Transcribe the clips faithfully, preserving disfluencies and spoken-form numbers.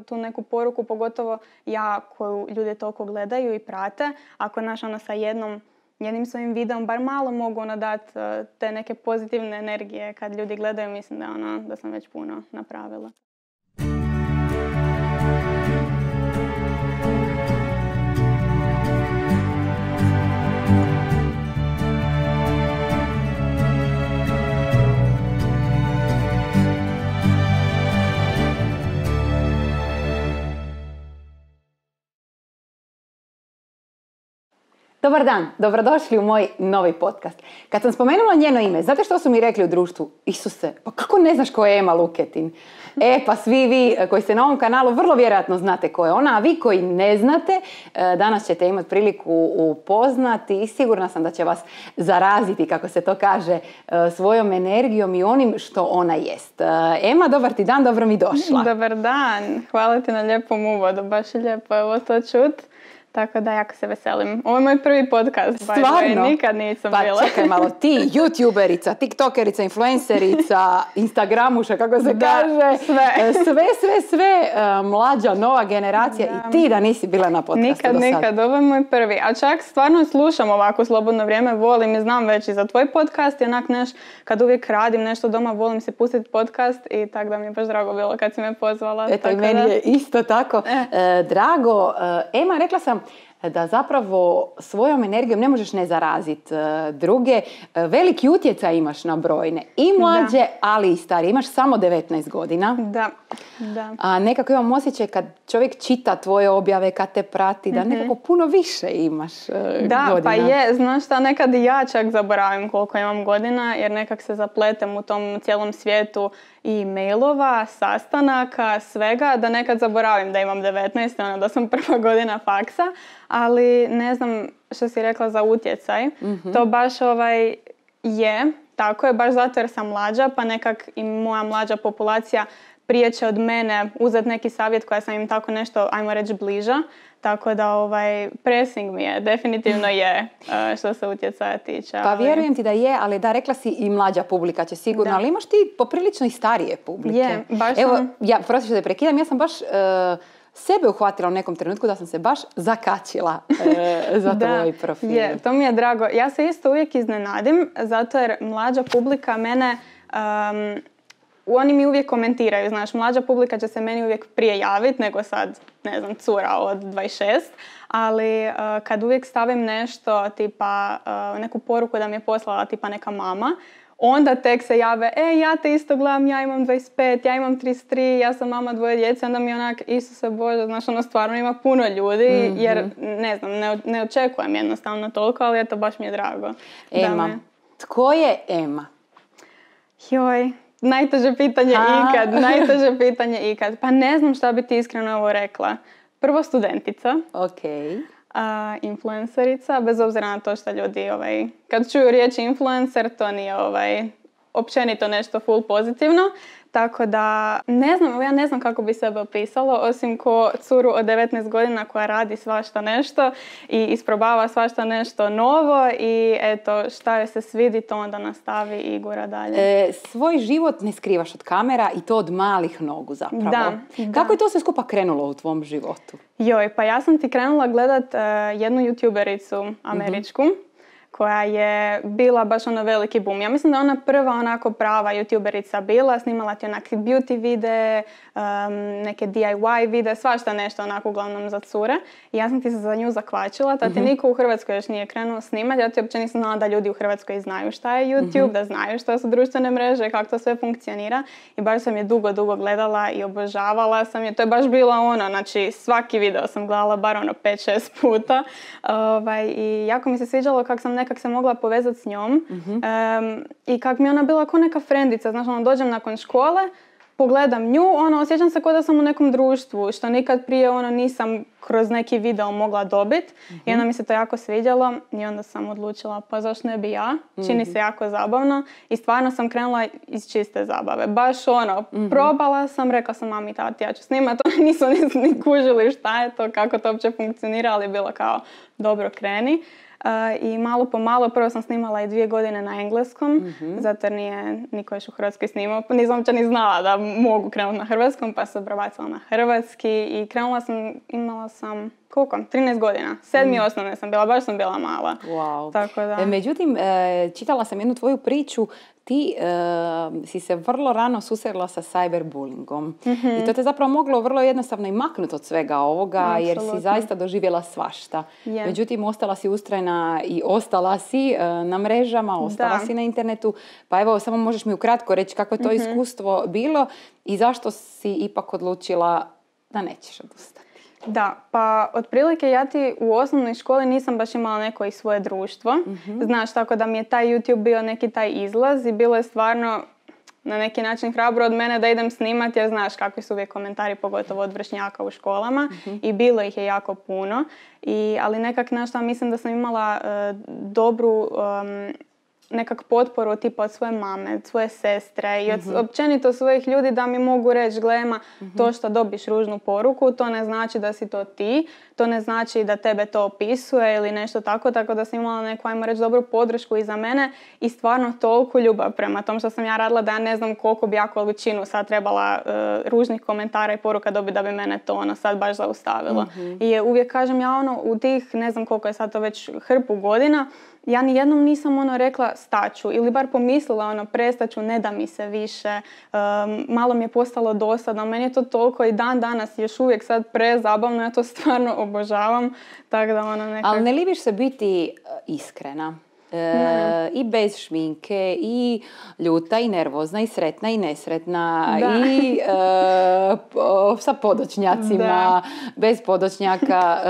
tu neku poruku, pogotovo ja koju ljudi toliko gledaju i prate. Ako naš ono sa jednom, jednim svojim videom bar malo mogu ono dati uh, te neke pozitivne energije kad ljudi gledaju, mislim da, ono, da sam već puno napravila. Dobar dan, dobrodošli u moj novi podcast. Kad sam spomenula njeno ime, znate što su mi rekli u društvu? Isuse, pa kako ne znaš ko je Ema Luketin? E, pa svi vi koji ste na ovom kanalu vrlo vjerojatno znate ko je ona, a vi koji ne znate, danas ćete imati priliku upoznati i sigurna sam da će vas zaraziti, kako se to kaže, svojom energijom i onim što ona jest. Ema, dobar ti dan, dobro mi došla. Dobar dan, hvala ti na lijepom uvodu, baš je lijepo ovo to čut. Tako da, jako se veselim. Ovo je moj prvi podcast. Stvarno? Nikad nisam pa bila. Pa čekaj malo, ti youtuberica, tiktokerica, influencerica, instagramuša, kako se da, kaže. Sve. Sve, sve, sve. Mlađa, nova generacija da. I ti da nisi bila na podcastu nikad, do sad. Nikad, nikad. Ovo je moj prvi. A čak stvarno slušam ovako slobodno vrijeme, volim i znam već i za tvoj podcast. I onak neš, kad uvijek radim nešto doma, volim si pustiti podcast i tako da mi je baš drago bilo kad si me pozvala. Eto, i meni da. Je isto tako eh. E, drago. E, Ema, rekla sam da zapravo svojom energijom ne možeš ne zaraziti druge. Veliki utjecaj imaš na brojne. I mlađe, da. Ali i starije. Imaš samo devetnaest godina. Da, da. A nekako imam osjećaj kad čovjek čita tvoje objave, kad te prati, da mm-hmm. nekako puno više imaš da, godina. Da, pa je. Znaš šta, nekad i ja čak zaboravim koliko imam godina, jer nekak se zapletem u tom cijelom svijetu i mailova, sastanaka, svega, da nekad zaboravim da imam devetnaest, ono da sam prva godina faksa, ali ne znam što si rekla za utjecaj. Mm-hmm. To baš ovaj je, tako je, baš zato jer sam mlađa, pa nekak i moja mlađa populacija prije će od mene uzeti neki savjet koja sam im tako nešto, ajmo reći, bliža. Tako da ovaj pressing mi je, definitivno je što se utjecaja tiče. Pa vjerujem ti da je, ali da, rekla si i mlađa publika će sigurno, da. Ali imaš ti poprilično i starije publike. Je, baš Evo, sam... ja, prosim što te prekidam, ja sam baš uh, sebe uhvatila u nekom trenutku da sam se baš zakačila uh, za da, tvoj profil. Je, to mi je drago. Ja se isto uvijek iznenadim, zato jer mlađa publika mene... Um, Oni mi uvijek komentiraju, znaš, mlađa publika će se meni uvijek prije javiti nego sad, ne znam, cura od dvadeset šest, ali uh, kad uvijek stavim nešto, tipa uh, neku poruku da mi je poslala tipa neka mama, onda tek se jave, e, ja te isto gledam, ja imam dvadeset pet, ja imam trideset tri, ja sam mama dvoje djece, onda mi onak, Isuse Bože, znaš, ono stvarno ima puno ljudi, mm-hmm. jer, ne znam, ne, ne očekujem jednostavno toliko, ali eto, baš mi je drago. Ema, me... tko je Ema? Joj... Najteže pitanje A. ikad, najteže pitanje ikad. Pa ne znam šta bi ti iskreno ovo rekla. Prvo studentica. Ok. A, influencerica, bez obzira na to što ljudi, ovaj, kad čuju riječ influencer, to nije ovaj, općenito nešto full pozitivno. Tako da, ne znam, ja ne znam kako bi sebe opisalo, osim ko curu od devetnaest godina koja radi svašta nešto i isprobava svašta nešto novo i eto, šta joj se svidi, to onda nastavi i gura dalje. E, svoj život ne skrivaš od kamera i to od malih nogu zapravo. Da, kako da. je to sve skupa krenulo u tvom životu? Joj, pa ja sam ti krenula gledat uh, jednu youtubericu američku. Mm-hmm. koja je bila baš ono veliki boom. Ja mislim da ona prva onako prava youtuberica bila, snimala ti onakve beauty videe, um, neke D I Y videe, svašta nešto onako uglavnom za cure. I ja sam ti se za nju zakvačila, ta ti mm-hmm. niko u Hrvatskoj još nije krenuo snimati, ja ti uopće nisam znala da ljudi u Hrvatskoj znaju šta je YouTube, mm-hmm. da znaju što su društvene mreže, kako to sve funkcionira. I baš sam je dugo, dugo gledala i obožavala sam je. To je baš bila ono, znači svaki video sam gledala bar ono pet šest puta. Ovaj, I jako mi se sviđalo kako sam nekak se mogla povezati s njom mm-hmm. um, i kak mi ona bila kao neka frendica, znaš, ono, dođem nakon škole, pogledam nju, ono, osjećam se kao da sam u nekom društvu, što nikad prije ono nisam kroz neki video mogla dobiti mm-hmm. i onda mi se to jako sviđalo i onda sam odlučila pa zašto ne bi ja, čini mm-hmm. se jako zabavno i stvarno sam krenula iz čiste zabave, baš ono, mm-hmm. probala sam, rekla sam mami, tati, ja ću snimati, oni nisu ni, ni kužili šta je to, kako to uopće funkcionira, ali bilo kao dobro kreni. i malo po malo, prvo sam snimala i dvije godine na engleskom, mm-hmm. zato jer nije niko još u Hrvatskoj snimao, pa nisam uopće ni znala da mogu krenuti na hrvatskom, pa sam prebacila na hrvatski i krenula sam, imala sam, koliko? trinaest godina, sedmi mm. osnovne sam bila, baš sam bila mala. Wow. Tako da. E, međutim, e, čitala sam jednu tvoju priču, ti e, si se vrlo rano susrela sa cyberbullyingom. Mm-hmm. I to te zapravo moglo vrlo jednostavno i maknuti od svega ovoga, absolutno. Jer si zaista doživjela svašta. Yeah. Međutim, ostala si ustrajna i ostala si e, na mrežama, ostala da. si na internetu. Pa evo, samo možeš mi ukratko reći kako je to mm-hmm. iskustvo bilo i zašto si ipak odlučila da nećeš odustati. Da, pa otprilike ja ti u osnovnoj školi nisam baš imala neko i svoje društvo. Mm-hmm. Znaš, tako da mi je taj YouTube bio neki taj izlaz i bilo je stvarno na neki način hrabro od mene da idem snimati jer znaš kakvi su uvijek komentari, pogotovo od vršnjaka u školama mm-hmm. i bilo ih je jako puno. I, ali nekak nešto mislim da sam imala uh, dobru um, nekak potporu tipa od svoje mame, od svoje sestre i od mm-hmm. općenito svojih ljudi da mi mogu reći glema mm-hmm. to što dobiš ružnu poruku, to ne znači da si to ti, to ne znači da tebe to opisuje ili nešto tako, tako da sam imala neku, ajmo reći, dobru podršku iza mene i stvarno toliko ljubav prema tom što sam ja radila da ja ne znam koliko bi ja količinu sad trebala uh, ružnih komentara i poruka dobiti da bi mene to ono sad baš zaustavilo. Mm-hmm. I uvijek kažem ja ono u tih ne znam koliko je sad to već hrpu godina, ja nijednom nisam ono rekla staću ili bar pomislila ono prestaću, ne da mi se više, um, malo mi je postalo dosadno, meni je to toliko i dan danas još uvijek sad prezabavno, ja to stvarno obožavam, tako da ono nekak... Ali ne libiš se biti iskrena? E, i bez šminke, i ljuta, i nervozna, i sretna, i nesretna, da. i e, po, sa podočnjacima, da. bez podočnjaka. E,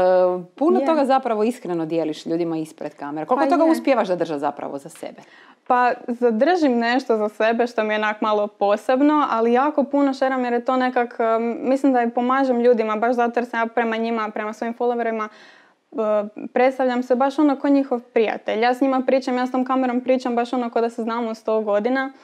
puno yeah. toga zapravo iskreno dijeliš ljudima ispred kamere. Koliko pa toga je. uspijevaš zadržati zapravo za sebe? Pa zadržim nešto za sebe što mi je onak malo posebno, ali jako puno šeram jer je to nekak, mislim da i pomažem ljudima, baš zato jer sam ja prema njima, prema svojim followerima, predstavljam se baš ono ko njihov prijatelj. Ja s njima pričam, ja s tom kamerom pričam baš ono ko da se znamo sto godina. Uh,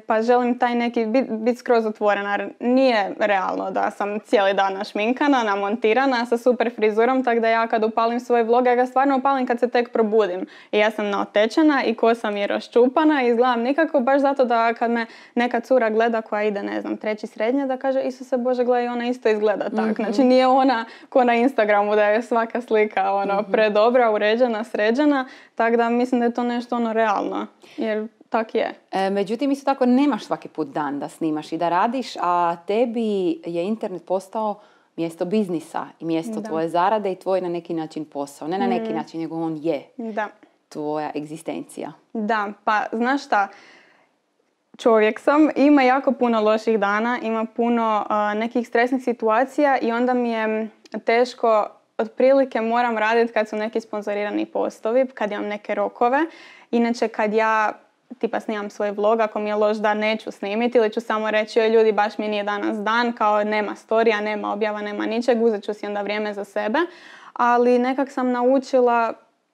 pa želim taj neki biti bit skroz otvorena. Nije realno da sam cijeli dan našminkana, namontirana sa super frizurom, tako da ja kad upalim svoj vlog, ja ga stvarno upalim kad se tek probudim. I ja sam naotečena i kosa mi je raščupana i izgledam nikako, baš zato da kad me neka cura gleda koja ide, ne znam, treći srednje, da kaže Isuse Bože, gledaj, ona isto izgleda tak. Mm-hmm. Znači nije ona ko na Instagramu da je svaka slika ono, mm-hmm. predobra, uređena, sređena, tako da mislim da je to nešto ono realno. Jer tak je. E, međutim, isto tako nemaš svaki put dan da snimaš i da radiš, a tebi je internet postao mjesto biznisa i mjesto da. tvoje zarade i tvoj na neki način posao. Ne na neki mm. način, nego on je da. tvoja egzistencija. Da, pa znaš šta, čovjek sam, ima jako puno loših dana, ima puno uh, nekih stresnih situacija i onda mi je teško, otprilike moram raditi kad su neki sponzorirani postovi, kad imam neke rokove. Inače, kad ja tipa snimam svoj vlog, ako mi je loš dan neću snimiti ili ću samo reći joj ljudi baš mi nije danas dan, kao nema storija, nema objava, nema ničeg, uzet ću si onda vrijeme za sebe. Ali nekak sam naučila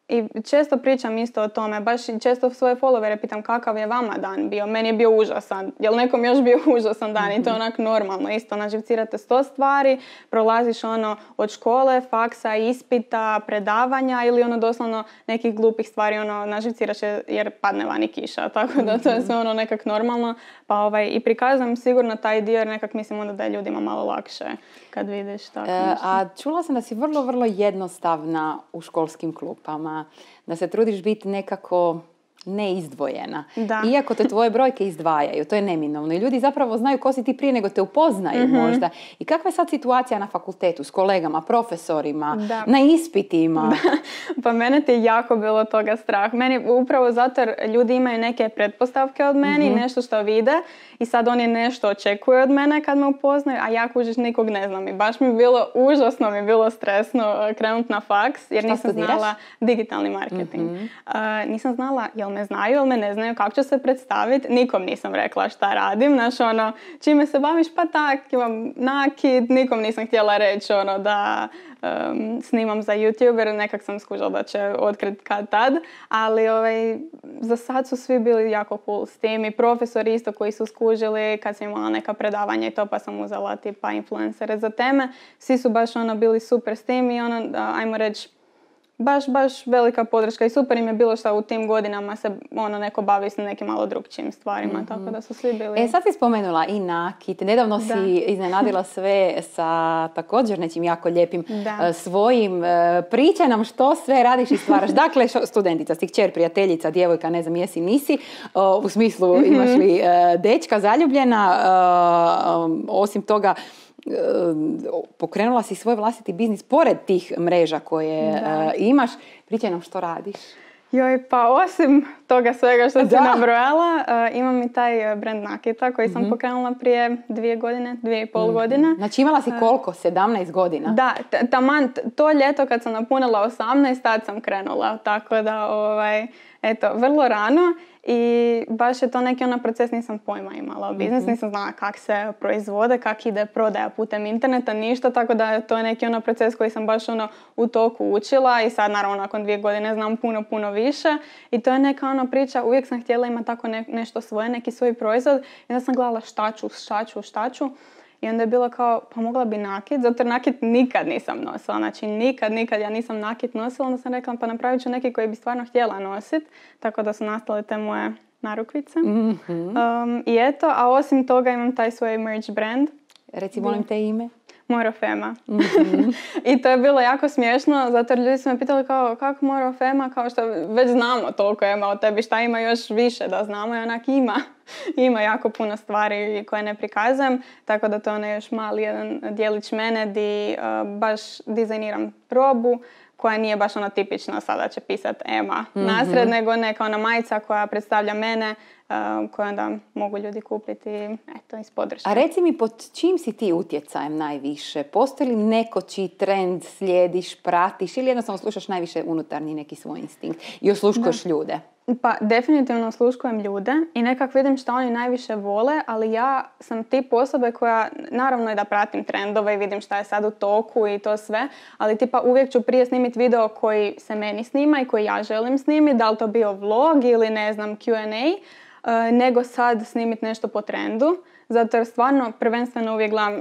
i često pričam isto o tome, baš i često svoje followere pitam kakav je vama dan bio, meni je bio užasan, jel nekom još bio užasan dan i to je onak normalno, isto naživcirate sto stvari, prolaziš ono od škole, faksa, ispita, predavanja ili ono doslovno nekih glupih stvari, ono naživciraš jer padne vani kiša, tako da to je sve ono nekak normalno, pa ovaj, i prikazujem sigurno taj dio jer nekak mislim onda da je ljudima malo lakše kad vidiš tako e, a čula sam da si vrlo, vrlo jednostavna u školskim klupama, da se trudiš biti nekako neizdvojena. Da. Iako te tvoje brojke izdvajaju, to je neminovno. I ljudi zapravo znaju ko si ti prije nego te upoznaju mm-hmm. možda. I kakva je sad situacija na fakultetu s kolegama, profesorima, da. na ispitima? Da. Pa mene ti je jako bilo toga strah. Meni upravo zato jer ljudi imaju neke pretpostavke od meni, mm-hmm. nešto što vide i sad oni nešto očekuju od mene kad me upoznaju, a ja kužiš nikog ne znam. I baš mi je bilo, užasno mi je bilo stresno krenuti na faks jer šta nisam studiraš? znala digitalni marketing. Mm-hmm. Uh, nisam znala jel me znaju ili me ne znaju, kako ću se predstaviti. Nikom nisam rekla šta radim. Znaš, ono, čime se baviš, pa tak, imam nakid. Nikom nisam htjela reći ono, da um, snimam za YouTube, jer nekak sam skužila da će otkriti kad tad. Ali ovaj, za sad su svi bili jako cool s tim. I profesori isto koji su skužili kad sam imala neka predavanja i to, pa sam uzela tipa influencere za teme. Svi su baš ono, bili super s tim i ono, ajmo reći, baš, baš velika podrška i super im je bilo što u tim godinama se ono neko bavi s nekim malo drugčijim stvarima, mm-hmm. tako da su svi bili... E, sad si spomenula i nakit, nedavno si da. iznenadila sve sa također nečim jako lijepim da. svojim. Pričaj nam što sve radiš i stvaraš. Dakle, studentica, si kćer, prijateljica, djevojka, ne znam jesi, nisi, u smislu imaš li dečka, zaljubljena, osim toga pokrenula si svoj vlastiti biznis pored tih mreža koje da. imaš. Pričaj nam što radiš. Joj, pa osim toga svega što si nabrojala, uh, imam i taj brand nakita koji sam mm-hmm. pokrenula prije dvije godine, dvije i pol mm-hmm. godine. Znači imala si koliko? sedamnaest godina? Da, t- taman to ljeto kad sam napunila osamnaest, tad sam krenula. Tako da, ovaj, eto, vrlo rano. I baš je to neki ono proces, nisam pojma imala o biznis, mm-hmm. nisam znala kak se proizvode, kak ide prodaja putem interneta, ništa, tako da to je neki ono proces koji sam baš ono u toku učila i sad naravno nakon dvije godine znam puno, puno više i to je neka ono priča, uvijek sam htjela imati tako ne, nešto svoje, neki svoj proizvod i onda sam gledala šta ću, šta ću, šta ću. I onda je bilo kao, pa mogla bi nakit, zato jer nakit nikad nisam nosila. Znači nikad, nikad ja nisam nakit nosila. Onda sam rekla, pa napravit ću neki koji bi stvarno htjela nositi. Tako da su nastale te moje narukvice. Mm-hmm. Um, I eto, a osim toga imam taj svoj merch brand. Reci, molim te ime. Morofema. Mm-hmm. I to je bilo jako smiješno, zato jer ljudi su me pitali kao, kako Morofema, kao što već znamo toliko ima o tebi, šta ima još više da znamo i onak ima. Ima jako puno stvari koje ne prikazujem, tako da to je onaj još mali jedan dijelić mene di uh, baš dizajniram robu koja nije baš ona tipična sada će pisat Ema mm-hmm. nasred, nego neka ona majica koja predstavlja mene, uh, koju onda mogu ljudi kupiti eto, iz podrške. A reci mi, pod čim si ti utjecajem najviše? Postoji li neko čiji trend slijediš, pratiš ili jednostavno slušaš najviše unutarnji neki svoj instinkt i osluškuješ da. ljude? Pa definitivno osluškujem ljude i nekak vidim što oni najviše vole, ali ja sam tip osobe koja, naravno i da pratim trendove i vidim šta je sad u toku i to sve, ali tipa uvijek ću prije snimiti video koji se meni snima i koji ja želim snimiti, da li to bio vlog ili ne znam Q and A, nego sad snimiti nešto po trendu, zato jer stvarno prvenstveno uvijek gledam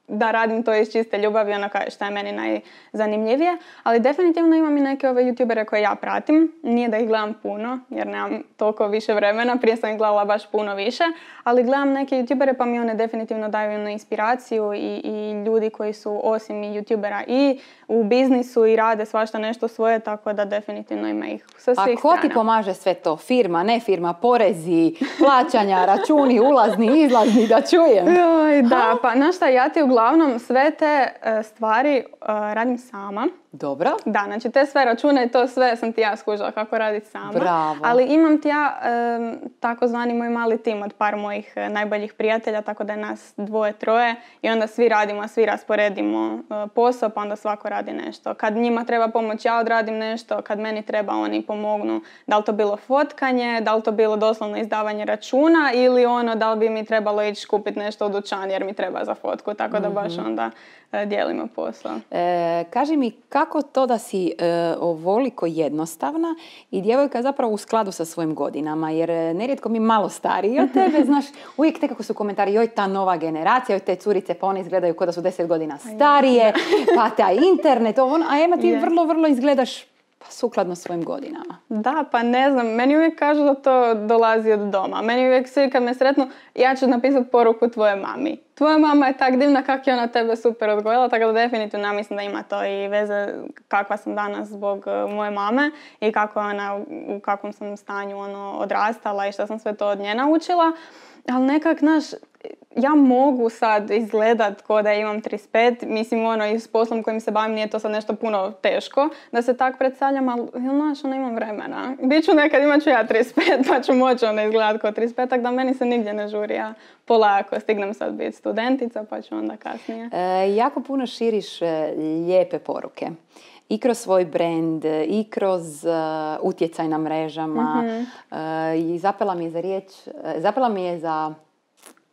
da radim to iz čiste ljubavi, ono što je meni najzanimljivije. Ali definitivno imam i neke ove youtubere koje ja pratim. Nije da ih gledam puno, jer nemam toliko više vremena. Prije sam ih gledala baš puno više. Ali gledam neke youtubere pa mi one definitivno daju jednu inspiraciju i, i ljudi koji su osim i youtubera i u biznisu i rade svašta nešto svoje, tako da definitivno ima ih sa svih strana. A ko ti pomaže sve to? Firma, ne firma, porezi, plaćanja, računi, ulazni, izlazni, da čujem. Joj, da, pa znaš šta, ja ti uglavnom sve te uh, stvari uh, radim sama. Dobro. Da, znači te sve račune i to sve sam ti ja skužila kako raditi sama. Bravo. Ali imam ti ja um, takozvani moj mali tim od par mojih uh, najboljih prijatelja, tako da je nas dvoje, troje i onda svi radimo, svi rasporedimo uh, posao, pa onda svako radi nešto. Kad njima treba pomoć, ja odradim nešto, kad meni treba, oni pomognu. Da li to bilo fotkanje, da li to bilo doslovno izdavanje računa ili ono da li bi mi trebalo ići kupiti nešto u dućan jer mi treba za fotku, tako da baš onda uh, dijelimo posao. E, kaži mi, kako to da si e, ovoliko jednostavna i djevojka zapravo u skladu sa svojim godinama, jer nerijetko mi malo stariji od tebe, znaš, uvijek nekako su komentari, joj ta nova generacija, joj te curice, pa one izgledaju kao da su deset godina starije, pa taj internet, ovo, a Ema ti vrlo, vrlo izgledaš pa sukladno svojim godinama. Da, pa ne znam, meni uvijek kažu da to dolazi od doma. Meni uvijek svi kad me sretnu, ja ću napisati poruku tvoje mami. Tvoja mama je tak divna kako je ona tebe super odgojila, tako da definitivno mislim da ima to i veze kakva sam danas zbog moje mame i kako ona, u kakvom sam stanju ono, odrastala i što sam sve to od nje naučila. Ali nekak, znaš, ja mogu sad izgledat ko da imam trideset pet, mislim ono i s poslom kojim se bavim nije to sad nešto puno teško da se tak predstavljam, ali znaš, ono imam vremena. Biću nekad, imat ću ja trideset pet pa ću moći onda izgledat ko trideset pet, tako da meni se nigdje ne žuri, ja polako stignem sad biti studentica pa ću onda kasnije. E, jako puno širiš e, lijepe poruke. I kroz svoj brand, i kroz uh, utjecaj na mrežama. Mm-hmm. Uh, I zapela mi je za riječ, uh, zapela mi je za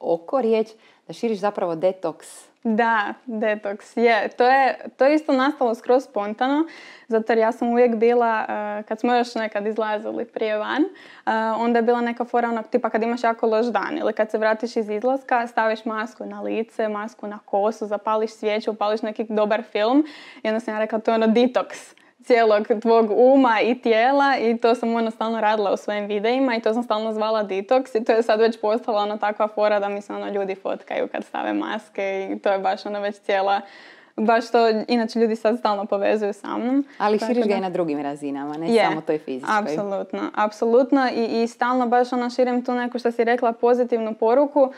oko riječ da širiš zapravo detoks. Da, detoks je. To je, to je isto nastalo skroz spontano, zato jer ja sam uvijek bila, uh, kad smo još nekad izlazili prije van, uh, onda je bila neka fora onog tipa kad imaš jako loš dan ili kad se vratiš iz izlaska, staviš masku na lice, masku na kosu, zapališ svijeću, upališ neki dobar film i onda sam ja rekla to je ono detoks. cijelog tvog uma i tijela i to sam ono stalno radila u svojim videima i to sam stalno zvala detox i to je sad već postala ono takva fora da mi se ono ljudi fotkaju kad stave maske i to je baš ono već cijela, baš to, inače ljudi sad stalno povezuju sa mnom. Ali širiš ga i na drugim razinama, ne je, samo toj fizičkoj. Apsolutno, apsolutno i, i stalno baš ono širim tu neku što si rekla pozitivnu poruku, uh,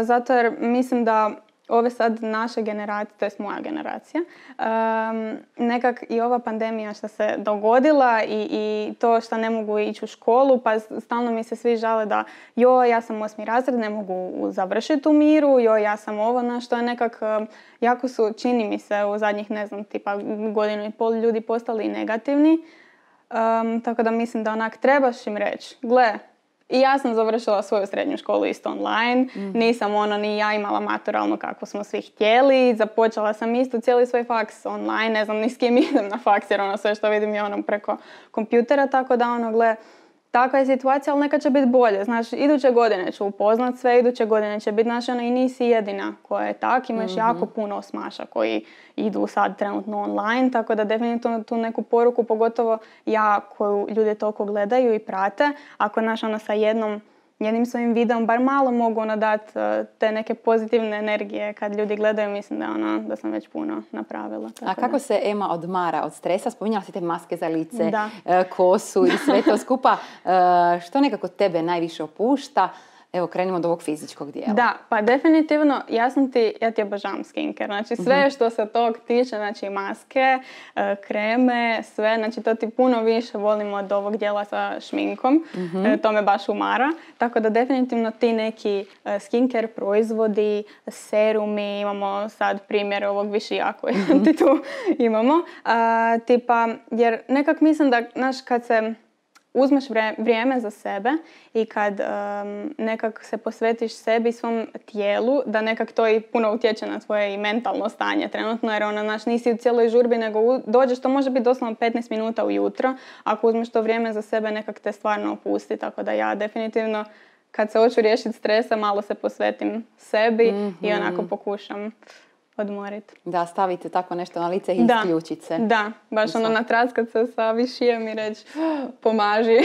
zato jer mislim da ove sad naše generacije, to je moja generacija, um, nekak i ova pandemija što se dogodila i, i to što ne mogu ići u školu, pa stalno mi se svi žale da joj, ja sam osmi razred, ne mogu završiti u miru, joj, ja sam ovo, no, što je nekak, jako su, čini mi se, u zadnjih, ne znam, tipa godinu i pol ljudi postali negativni, um, tako da mislim da onak trebaš im reći, gle, i ja sam završila svoju srednju školu isto online, mm. nisam ono ni ja imala maturalno kako smo svi htjeli, započela sam isto cijeli svoj faks online, ne znam ni s kim idem na faks jer ono sve što vidim je ono preko kompjutera, tako da ono gle, takva je situacija, ali neka će biti bolje. Znaš, iduće godine ću upoznat sve, iduće godine će biti, znaš, ono, i nisi jedina koja je tak, imaš mm-hmm. jako puno osmaša koji idu sad trenutno online, tako da definitivno tu neku poruku, pogotovo ja koju ljudi toliko gledaju i prate, ako naš ono sa jednom jednim svojim videom bar malo mogu ono dati te neke pozitivne energije kad ljudi gledaju, mislim da, ono, da sam već puno napravila. A kako da. se Ema odmara od stresa? Spominjala si te maske za lice, da. kosu i sve to skupa. Što nekako tebe najviše opušta? Evo, krenimo od ovog fizičkog dijela. Da, pa definitivno, ja sam ti, ja ti obožavam skincare. Znači sve mm-hmm. što se tog tiče, znači maske, kreme, sve, znači to ti puno više volim od ovog dijela sa šminkom. Mm-hmm. To me baš umara. Tako da definitivno ti neki skincare proizvodi, serumi, imamo sad primjer ovog višija koji mm-hmm. ti tu imamo. A, tipa, jer nekak mislim da, znaš, kad se uzmeš vrijeme za sebe i kad um, nekak se posvetiš sebi i svom tijelu, da nekak to i puno utječe na tvoje i mentalno stanje trenutno, jer ona, naš, nisi u cijeloj žurbi, nego u, dođeš, to može biti doslovno petnaest minuta ujutro, ako uzmeš to vrijeme za sebe, nekak te stvarno opusti, tako da ja definitivno kad se hoću riješiti stresa, malo se posvetim sebi mm-hmm. i onako pokušam odmoriti. Da, stavite tako nešto na lice i da, isključit se. Da, baš ono natraskat se sa višijem i reći pomaži.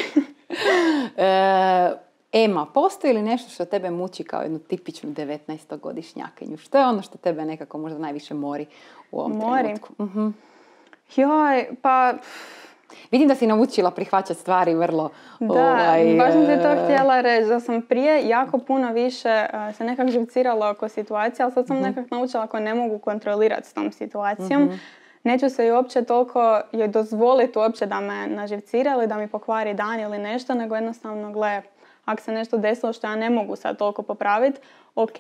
e, Ema, postoji li nešto što tebe muči kao jednu tipičnu devetnaestogodišnjakinju? Što je ono što tebe nekako možda najviše mori u ovom mori. trenutku? Uh-huh. Joj, pa... Vidim da si naučila prihvaćati stvari vrlo... Da, ovaj, baš sam ti to htjela reći, da sam prije jako puno više uh, se nekak živcirala oko situacije, ali sad sam uh-huh. nekak naučila ako ne mogu kontrolirati s tom situacijom. Uh-huh. Neću se i uopće toliko joj dozvoliti uopće da me naživcira ili da mi pokvari dan ili nešto, nego jednostavno gle, ako se nešto desilo što ja ne mogu sad toliko popraviti, ok.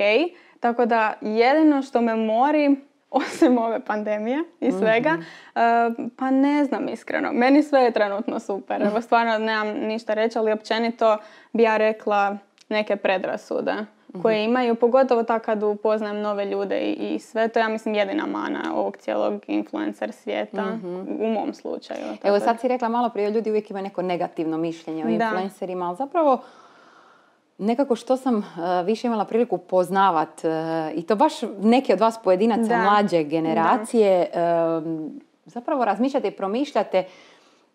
Tako da jedino što me mori, osim ove pandemije i svega, mm-hmm. uh, pa ne znam iskreno. Meni sve je trenutno super. Evo stvarno nemam ništa reći, ali općenito bi ja rekla neke predrasude mm-hmm. koje imaju, pogotovo tako kad upoznajem nove ljude i, i sve. To ja mislim jedina mana ovog cijelog influencer svijeta mm-hmm. u mom slučaju. Evo sad si rekla malo prije, ljudi uvijek imaju neko negativno mišljenje o influencerima, ali zapravo nekako što sam uh, više imala priliku poznavat uh, i to baš neki od vas pojedinaca da. mlađe generacije uh, zapravo razmišljate i promišljate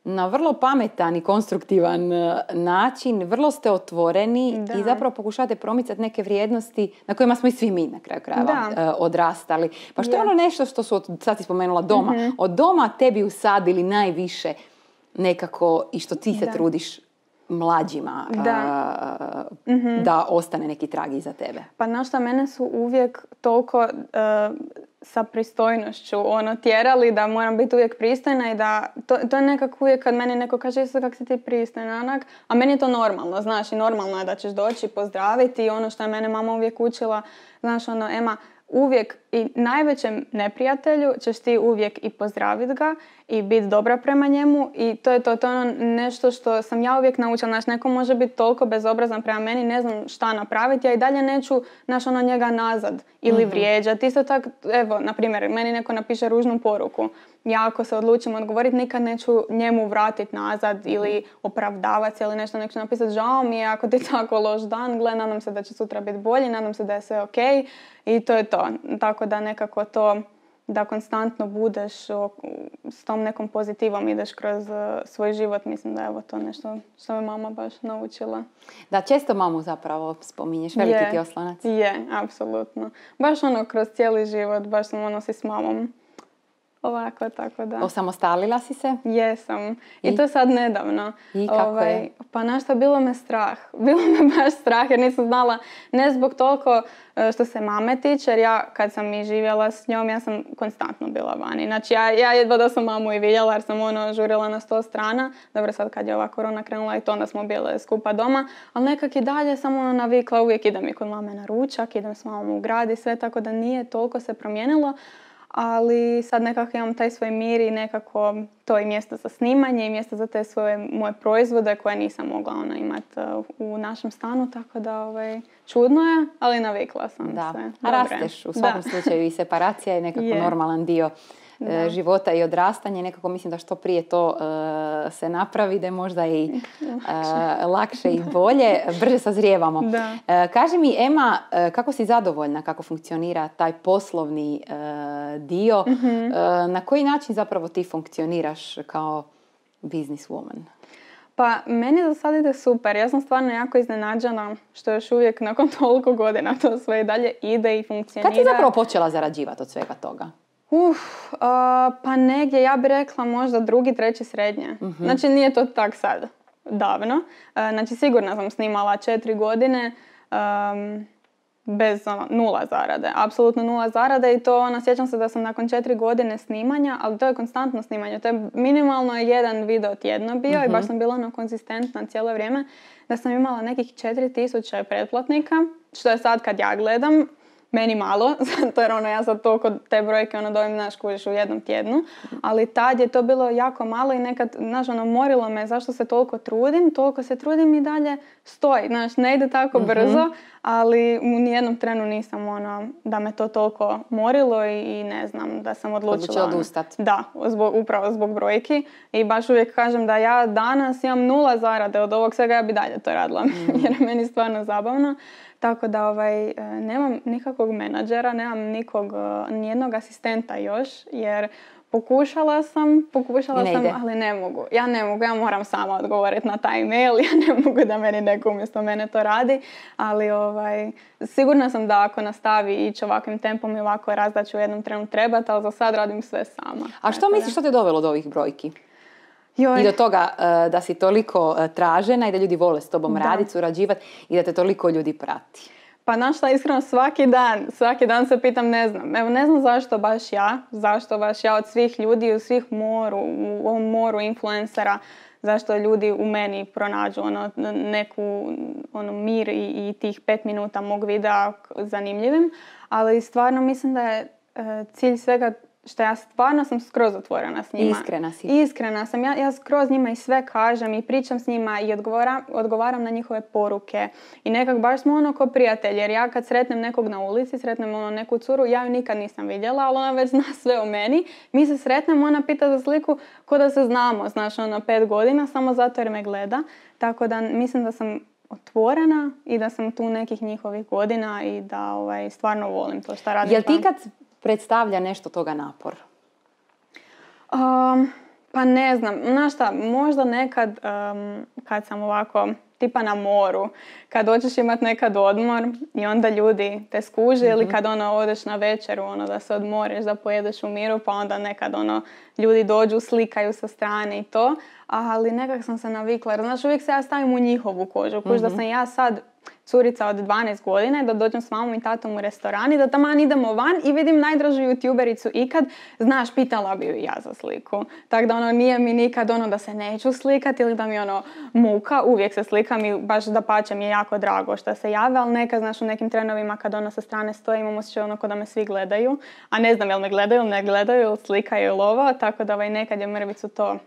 na vrlo pametan i konstruktivan uh, način, vrlo ste otvoreni da. i zapravo pokušavate promicati neke vrijednosti na kojima smo i svi mi na kraju krajeva uh, odrastali. Pa što je ono nešto što su, od, sad si spomenula doma, mm-hmm. od doma tebi usadili najviše nekako i što ti se da. trudiš mlađima da. Uh, mm-hmm. da ostane neki trag iza tebe? Pa znaš šta, mene su uvijek toliko uh, sa pristojnošću ono, tjerali da moram biti uvijek pristojna i da to, to je nekako uvijek kad meni neko kaže isto kak si ti pristojna, onak, a meni je to normalno, znaš, i normalno je da ćeš doći pozdraviti i ono što je mene mama uvijek učila, znaš, ono, Ema, uvijek i najvećem neprijatelju ćeš ti uvijek i pozdraviti ga i biti dobra prema njemu i to je to, to je ono nešto što sam ja uvijek naučila. Znaš, neko može biti toliko bezobrazan prema meni, ne znam šta napraviti, ja i dalje neću, znaš, ono njega nazad ili mm-hmm. vrijeđati. Isto tako, evo, na primjer, meni neko napiše ružnu poruku. Ja ako se odlučim odgovoriti, nikad neću njemu vratiti nazad mm-hmm. ili opravdavati se ili nešto, nek ću napisati žao mi je ako ti tako loš dan, gle, nadam se da će sutra biti bolji, nadam se da je sve ok i to je to. Tako da nekako to da konstantno budeš o, s tom nekom pozitivom, ideš kroz uh, svoj život. Mislim da je evo to nešto što me mama baš naučila. Da, često mamu zapravo spominješ, veliki je, ti oslonac. Je, apsolutno. Baš ono kroz cijeli život, baš sam ono si s mamom. Ovako, tako da. Osamostalila si se? Jesam. I, I to sad nedavno. I kako ovaj, je? Pa nešto, bilo me strah. Bilo me baš strah jer nisam znala, ne zbog toliko što se mame tiče, jer ja kad sam i živjela s njom, ja sam konstantno bila vani. Znači ja, ja jedva da sam mamu i vidjela jer sam ono žurila na sto strana. Dobro, sad kad je ova korona krenula i to, onda smo bile skupa doma. Ali nekak i dalje sam ono navikla, uvijek idem i kod mame na ručak, idem s mamom u grad i sve, tako da nije toliko se promijenilo. Ali sad nekako imam taj svoj mir i nekako to i mjesto za snimanje i mjesto za te svoje moje proizvode koje nisam mogla ona imati u našem stanu, tako da ovaj, čudno je, ali navikla sam da. se. A rasteš u svakom da. slučaju i separacija je nekako je. normalan dio da. života i odrastanje. Nekako mislim da što prije to uh, se napravi, da je možda i uh, lakše i bolje, brže sazrijevamo. Uh, kaži mi, Ema, uh, kako si zadovoljna kako funkcionira taj poslovni uh, dio? Mm-hmm. Uh, na koji način zapravo ti funkcioniraš kao business woman? Pa, meni za sad ide super. Ja sam stvarno jako iznenađena što još uvijek nakon toliko godina to sve i dalje ide i funkcionira. Kad si zapravo počela zarađivati od svega toga? Uf, uh, pa negdje, ja bih rekla možda drugi, treći srednje. Mm-hmm. Znači nije to tak sad davno. Uh, znači sigurno sam snimala četiri godine um, bez ono, nula zarade. Apsolutno nula zarade i to ono, sjećam se da sam nakon četiri godine snimanja, ali to je konstantno snimanje. To je minimalno jedan video tjedno bio mm-hmm. i baš sam bila ono konzistentna cijelo vrijeme da sam imala nekih četiri tisuće pretplatnika, što je sad kad ja gledam meni malo, zato jer ono, ja sad toliko te brojke ono dobijem, znaš, kužiš u jednom tjednu, ali tad je to bilo jako malo i nekad, znaš, ono, morilo me zašto se toliko trudim, toliko se trudim i dalje stoji, znaš, ne ide tako mm-hmm. brzo, ali u nijednom trenu nisam, ono, da me to toliko morilo i, i ne znam, da sam odlučila. Odlučila odustati. Da, zbog, upravo zbog brojki i baš uvijek kažem da ja danas imam nula zarade od ovog svega, ja bi dalje to radila, mm. jer je meni stvarno zabavno. Tako da ovaj, nemam nikakvog menadžera, nemam nikog, nijednog asistenta još, jer pokušala sam, pokušala sam, ali ne mogu. Ja ne mogu, ja moram sama odgovoriti na taj mail, ja ne mogu da meni neko umjesto mene to radi, ali ovaj, sigurna sam da ako nastavi ići ovakvim tempom i ovako raz da ću u jednom trenu trebati, ali za sad radim sve sama. A što misliš, što te dovelo do ovih brojki? Joj. I do toga uh, da si toliko uh, tražena i da ljudi vole s tobom raditi, surađivati i da te toliko ljudi prati. Pa znaš šta, iskreno svaki dan, svaki dan se pitam, ne znam. Evo ne znam zašto baš ja, zašto baš ja od svih ljudi, u svih moru, u ovom moru influencera, zašto ljudi u meni pronađu ono, neku ono, mir i, i tih pet minuta mog videa zanimljivim. Ali stvarno mislim da je uh, cilj svega što ja stvarno sam skroz otvorena s njima. Iskrena si. Iskrena sam. Ja, ja skroz njima i sve kažem i pričam s njima i odgovaram, odgovaram na njihove poruke. I nekak baš smo ono ko prijatelji. Jer ja kad sretnem nekog na ulici, sretnem ono neku curu, ja ju nikad nisam vidjela, ali ona već zna sve o meni. Mi se sretnemo, ona pita za sliku ko da se znamo, znaš, ono pet godina, samo zato jer me gleda. Tako da mislim da sam otvorena i da sam tu nekih njihovih godina i da ovaj, stvarno volim to što radim. Jel ti kad predstavlja nešto toga napor? Um, pa ne znam. Znaš šta, možda nekad um, kad sam ovako tipa na moru, kad hoćeš imati nekad odmor i onda ljudi te skuže mm-hmm. ili kad ono odeš na večeru ono da se odmoriš, da pojedeš u miru, pa onda nekad ono ljudi dođu, slikaju sa strane i to, ali nekak sam se navikla, jer znaš uvijek se ja stavim u njihovu kožu, kuž mm-hmm. da sam ja sad curica od dvanaest godina, da dođem s mamom i tatom u restoran i da taman idemo van i vidim najdražu youtubericu ikad, znaš, pitala bi ju ja za sliku. Tako da ono nije mi nikad ono da se neću slikati ili da mi ono muka, uvijek se slikam i baš da pače mi je jako drago što se jave, ali nekad, znaš, u nekim trenovima kad ono sa strane stoji imam osjećaj ono ko da me svi gledaju, a ne znam jel me gledaju ili ne gledaju ili slikaju ili ovo, tako da ovaj, nekad je mrvicu to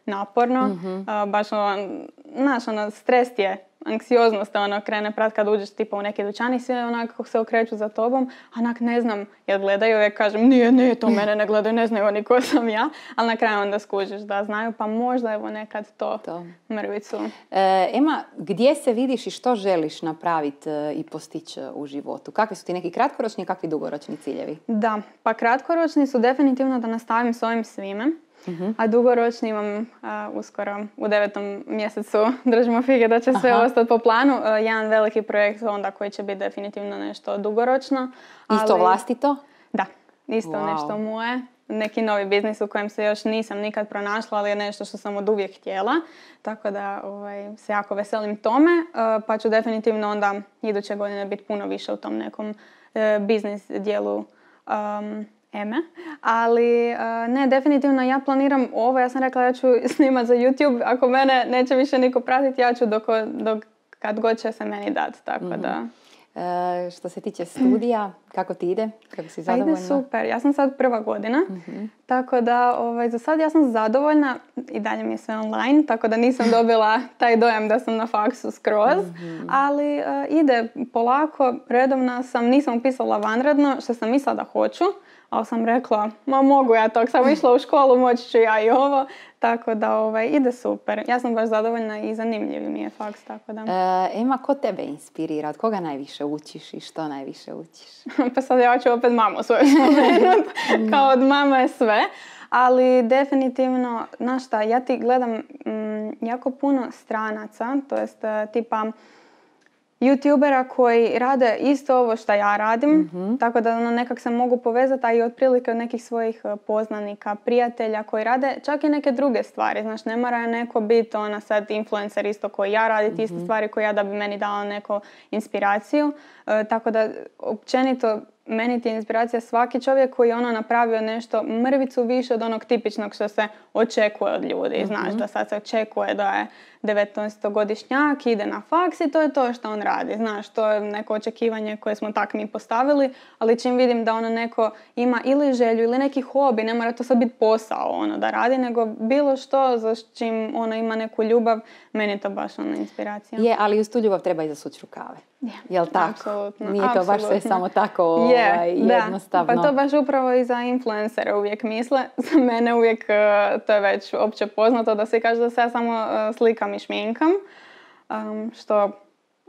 naporno. Mhm. Uh, baš ono, znaš, ono, stres ti je, anksioznost ono krene prat kad uđeš tipa u neki dućan i sve onako se okreću za tobom, a onak ne znam jel gledaju, uvijek kažem nije, nije, to mene ne gledaju, ne znaju oni ko sam ja, ali na kraju onda skužiš da znaju, pa možda evo nekad to, to. mrvicu. E, Ema, gdje se vidiš i što želiš napraviti e, i postići u životu? Kakvi su ti neki kratkoročni i kakvi dugoročni ciljevi? Da, pa kratkoročni su definitivno da nastavim s ovim svime. Uh-huh. A dugoročni imam uh, uskoro u devetom mjesecu, držimo fige da će sve Aha. ostati po planu, uh, jedan veliki projekt onda koji će biti definitivno nešto dugoročno. Isto ali... vlastito? Da, isto wow. nešto moje. Neki novi biznis u kojem se još nisam nikad pronašla, ali je nešto što sam od uvijek htjela. Tako da ovaj, se jako veselim tome, uh, pa ću definitivno onda iduće godine biti puno više u tom nekom uh, biznis dijelu um, Eme, ali uh, ne, definitivno ja planiram ovo, ja sam rekla da ću snimati za YouTube, ako mene neće više niko pratiti, ja ću dok, dok kad god će se meni dati, tako mm-hmm. da. E, što se tiče studija, kako ti ide? Kako si zadovoljna? Ide super, ja sam sad prva godina, mm-hmm. tako da ovaj, za sad ja sam zadovoljna i dalje mi je sve online, tako da nisam dobila taj dojam da sam na faksu skroz, mm-hmm. ali uh, ide polako, redovna sam, nisam upisala vanredno, što sam mislila da hoću, ali sam rekla, ma mogu ja to, sam išla u školu, moći ću ja i ovo, tako da ovaj, ide super. Ja sam baš zadovoljna i zanimljiv mi je faks, tako da. E, Ema, ko tebe inspirira? Od koga najviše učiš i što najviše učiš? Pa sad ja ću opet mamu svoju spomenut, kao od mama je sve. Ali definitivno, znaš šta, ja ti gledam mm, jako puno stranaca, to jest tipa YouTubera koji rade isto ovo što ja radim, mm-hmm. tako da ono, nekak se mogu povezati, a i otprilike od nekih svojih poznanika, prijatelja koji rade čak i neke druge stvari. Znaš, ne mora neko biti ona sad influencer isto koji ja raditi mm-hmm. iste stvari koje ja da bi meni dala neku inspiraciju. E, tako da općenito meni ti je inspiracija svaki čovjek koji je ono napravio nešto mrvicu više od onog tipičnog što se očekuje od ljudi. Mm-hmm. Znaš, da sad se očekuje da je devetnaestogodišnjak, ide na faks i to je to što on radi. Znaš, to je neko očekivanje koje smo tak mi postavili, ali čim vidim da ono neko ima ili želju ili neki hobi, ne mora to sad biti posao ono da radi, nego bilo što za čim ono ima neku ljubav, meni je to baš ono inspiracija. Je, ali uz tu ljubav treba i zasući rukave. Je, jel tako? Apsolutno. Nije to apsolutno. baš sve samo tako ovaj, je, jednostavno. Da. Pa to baš upravo i za influencere uvijek misle. Za mene uvijek, to je već opće poznato da se kaže da se ja samo slikam i šminkam. Um, što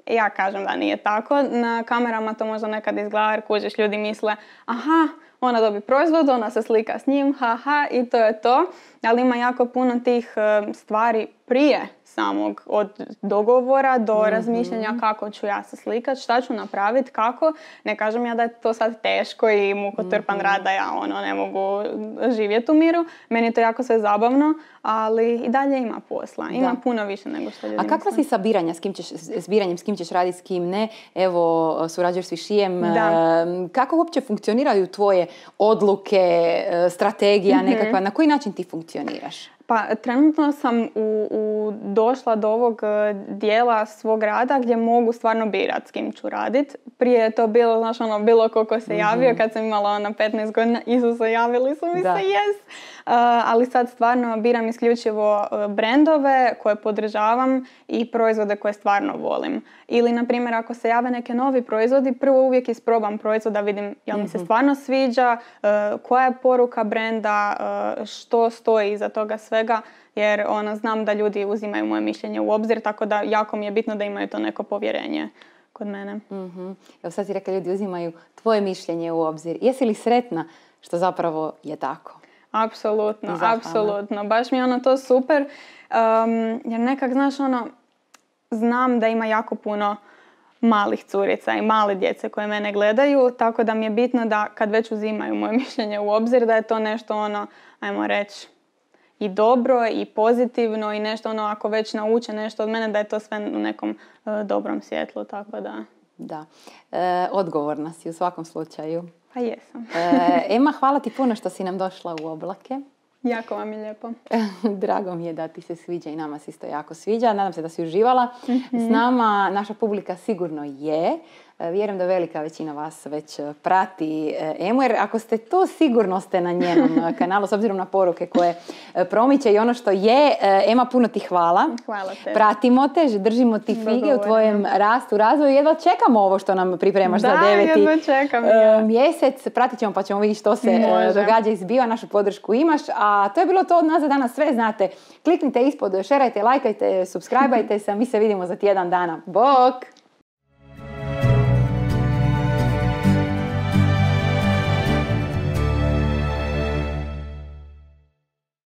ja kažem da nije tako. Na kamerama to možda nekad izgleda jer kužiš, ljudi misle aha, ona dobi proizvod, ona se slika s njim, haha, i to je to. Ali ima jako puno tih uh, stvari prije samog, od dogovora do mm-hmm. razmišljanja kako ću ja se slikat, šta ću napraviti, kako. Ne kažem ja da je to sad teško i mukotrpan mm-hmm. rad da ja ono ne mogu živjeti u miru. Meni je to jako sve zabavno, ali i dalje ima posla. Ima da. puno više nego što ljudi misle. A kakva si sa biranjem, s kim ćeš, s biranjem, s kim ćeš raditi, s kim ne? Evo, surađuješ s Višijem. Da. Kako uopće funkcioniraju tvoje odluke, strategija mm-hmm. nekakva? Na koji način ti funkcioniraš? Pa trenutno sam u, u došla do ovog dijela svog rada gdje mogu stvarno birati s kim ću raditi. Prije je to bilo, znaš, ono, bilo koliko se javio, mm-hmm. kad sam imala ona petnaest godina, Isuse, javili su mi da. se, yes. Uh, ali sad stvarno biram isključivo brendove koje podržavam i proizvode koje stvarno volim. Ili, na primjer, ako se jave neke novi proizvodi, prvo uvijek isprobam proizvod da vidim jel mi se stvarno sviđa, uh, koja je poruka brenda, uh, što stoji iza toga svega, jer ono, znam da ljudi uzimaju moje mišljenje u obzir, tako da jako mi je bitno da imaju to neko povjerenje kod mene. Mm-hmm. Evo sad si rekla, ljudi uzimaju tvoje mišljenje u obzir. Jesi li sretna što zapravo je tako? Apsolutno, apsolutno. Baš mi je ono to super, um, jer nekak, znaš, ono, znam da ima jako puno malih curica i male djece koje mene gledaju, tako da mi je bitno da kad već uzimaju moje mišljenje u obzir, da je to nešto ono, ajmo reći, i dobro i pozitivno i nešto ono, ako već nauče nešto od mene, da je to sve u nekom uh, dobrom svjetlu, tako da. Da, e, odgovorna si u svakom slučaju. Pa jesam. e, Ema, hvala ti puno što si nam došla u Oblake. Jako vam je lijepo. Drago mi je da ti se sviđa i nama se isto jako sviđa. Nadam se da si uživala. Mm-hmm. S nama naša publika sigurno je. Vjerujem da velika većina vas već prati Emu, jer ako ste to, sigurno ste na njenom kanalu, s obzirom na poruke koje promiče i ono što je. Ema, puno ti hvala. Hvala te. Pratimo te, držimo ti fige u tvojem rastu, razvoju. Jedva čekamo ovo što nam pripremaš da, za deveti jedva čekam, ja. mjesec. Pratit ćemo pa ćemo vidjeti što se Može. događa i zbiva. Našu podršku imaš. A to je bilo to od nas za danas. Sve znate. Kliknite ispod, šerajte, lajkajte, subscribeajte se. Mi se vidimo za tjedan dana. Bok!